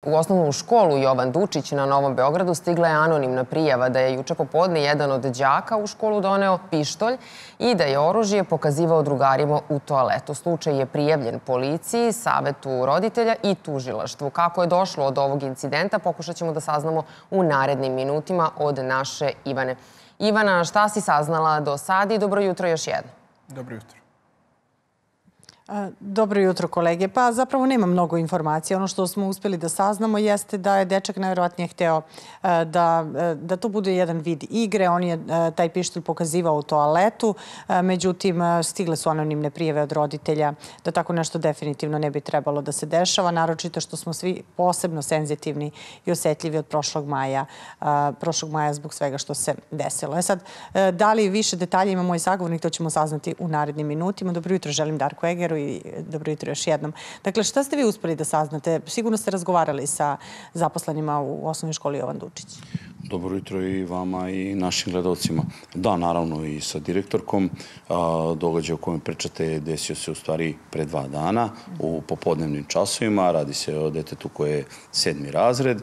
U osnovnu školu Jovan Dučić na Novom Beogradu stigla je anonimna prijava da je juče popodne jedan od đaka u školu doneo pištolj i da je oružje pokazivao drugarima u toaletu. Slučaj je prijavljen policiji, savetu roditelja i tužilaštvu. Kako je došlo od ovog incidenta, pokušat ćemo da saznamo u narednim minutima od naše Ivane. Ivana, šta si saznala do sada i dobro jutro još jedno. Dobro jutro. Dobro jutro, kolege. Pa zapravo nema mnogo informacija. Ono što smo uspjeli da saznamo jeste da je dečak najvjerojatnije hteo da to bude jedan vid igre. On je taj pištolj pokazivao u toaletu. Međutim, stigle su anonimne prijave od roditelja da tako nešto definitivno ne bi trebalo da se dešava. Naročito što smo svi posebno senzitivni i osjetljivi od prošlog maja zbog svega što se desilo. Sad, da li više detalja ima moj sagovornik, to ćemo saznati u narednim minutima. Dobro jutro, želim Darku Egeru i dobro jutro još jednom. Dakle, šta ste vi uspeli da saznate? Sigurno ste razgovarali sa zaposlenima u osnovnoj školi Jovan Dučić. Dobro jutro i vama i našim gledalcima. Da, naravno i sa direktorkom. Događaj o kojem pričate desio se u stvari pre 2 dana u popodnevnim časovima. Radi se o detetu koje je 7. razred.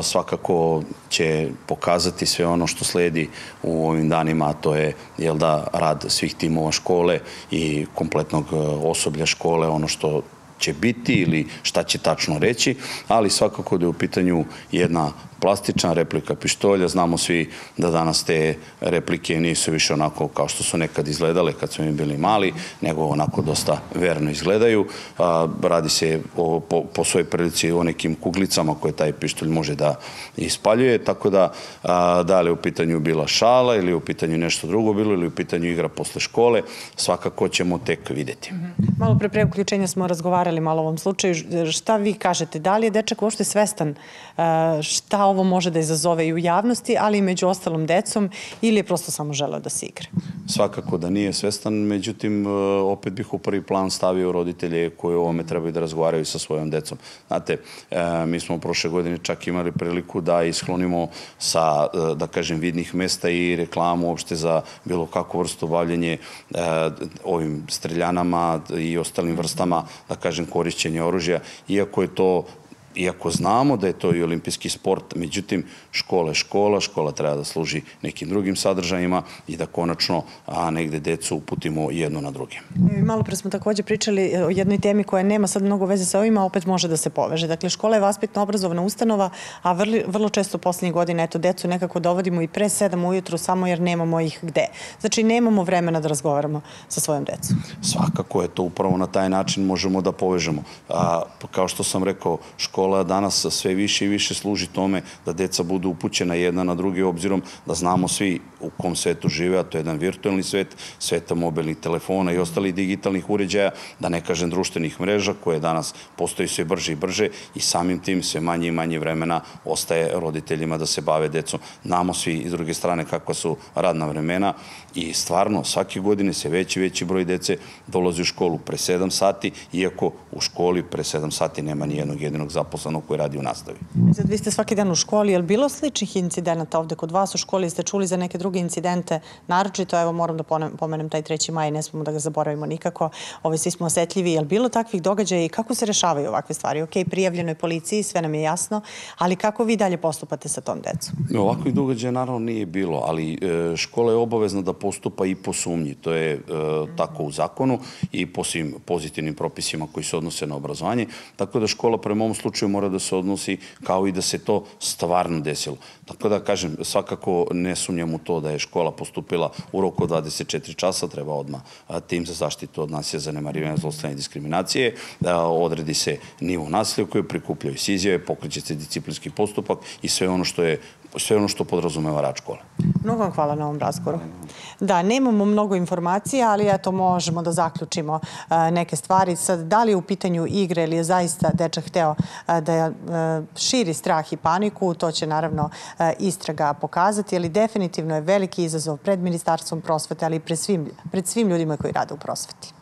Svakako će pokazati sve ono što sledi u ovim danima, a to je rad svih timova škole i kompletnog osoblja škole, ono što će biti ili šta će tačno reći, ali svakako da je u pitanju jedna plastična replika pištolja. Znamo svi da danas te replike nisu više onako kao što su nekad izgledale kad smo mi bili mali, nego onako dosta verno izgledaju. Radi se po svojoj prilici o nekim kuglicama koje taj pištolj može da ispaljuje, tako da li je u pitanju bila šala ili je u pitanju nešto drugo bilo ili je u pitanju igra posle škole, svakako ćemo tek vidjeti. Malo pre uključenja smo razgovarali malo o ovom slučaju. Šta vi kažete? Da li je dečak uopšte svestan šta ovo može da izazove i u javnosti, ali i među ostalom decom, ili je prosto samo želeo da se igra? Svakako da nije svestan, međutim, opet bih u prvi plan stavio roditelje koji o ovome trebaju da razgovaraju sa svojom decom. Znate, mi smo prošle godine čak imali priliku da isklonimo sa, da kažem, vidnih mesta i reklamu uopšte za bilo kakvu vrstu bavljenje ovim streljanama i ostalim vrstama, da kažem, korišćenja oružja, iako znamo da je to i olimpijski sport, međutim, škola je škola, škola treba da služi nekim drugim sadržajima i da konačno negde decu uputimo jedno na druge. Malo pre smo također pričali o jednoj temi koja nema sad mnogo veze sa ovima, a opet može da se poveže. Dakle, škola je vaspitno-obrazovna ustanova, a vrlo često poslednjih godina decu nekako dovodimo i pre 7 ujutru samo jer nemamo ih gde. Znači, nemamo vremena da razgovaramo sa svojom decom. Svakako je to upravo na taj način možemo da povežemo. Kao što sam rekao, škola danas sve više i više služi tome da deca budu upućena jedna na drugi, obzirom da znamo svi u kom svetu žive, a to je jedan virtualni svet, sveta mobilnih telefona i ostalih digitalnih uređaja, da ne kažem društvenih mreža koje danas postoji sve brže i brže i samim tim sve manje i manje vremena ostaje roditeljima da se bave decom. Znamo svi iz druge strane kakva su radna vremena i stvarno svake godine se veći i veći broj dece dolazi u školu pre 7 sati, iako u školi pre 7 sati nema ni jednog jedinog zaposlenog koji radi u nastavi. Sad, vi ste svaki dan u školi. Je li bilo sličnih incidenata ovde kod vas u školi? Ste čuli za neke druge incidente? Naročito, evo, moram da pomenem taj 3. maj, ne smemo da ga zaboravimo nikako. Svi smo osetljivi. Je li bilo takvih događaja i kako se rešavaju ovakve stvari? Ok, prijavljeno je policiji, sve nam je jasno, ali kako vi dalje postupate sa tom decom? Ovakvih događaja naravno nije bilo, ali škola je obavezna da postupa i po sumnji. To je tako u zakonu i po svim pozitivnim propisima koji se odnose na obrazovanje. Tako da škola prema ovom slučaju mora da se odnosi kao i da se to stvarno desilo. Tako da, kažem, svakako ne sumnjam u to da je škola postupila u roku od 24 časa, treba odmah tim za zaštitu od nasilja, zanemarivanja, zlostavljanja i diskriminacije, odredi se nivo nasilja koje prikupljaju se izjave, pokreće se disciplinski postupak i sve ono što podrazumeva rad škole. Mnogo vam hvala na ovom razgovoru. Da, nemamo mnogo informacija, ali eto možemo da zaključimo neke stvari. Sad, da li je u pitanju igre ili je zaista dečak hteo da širi strah i paniku, to će naravno istraga pokazati, ali definitivno je veliki izazov pred Ministarstvom prosvete, ali i pred svim ljudima koji rade u prosveti.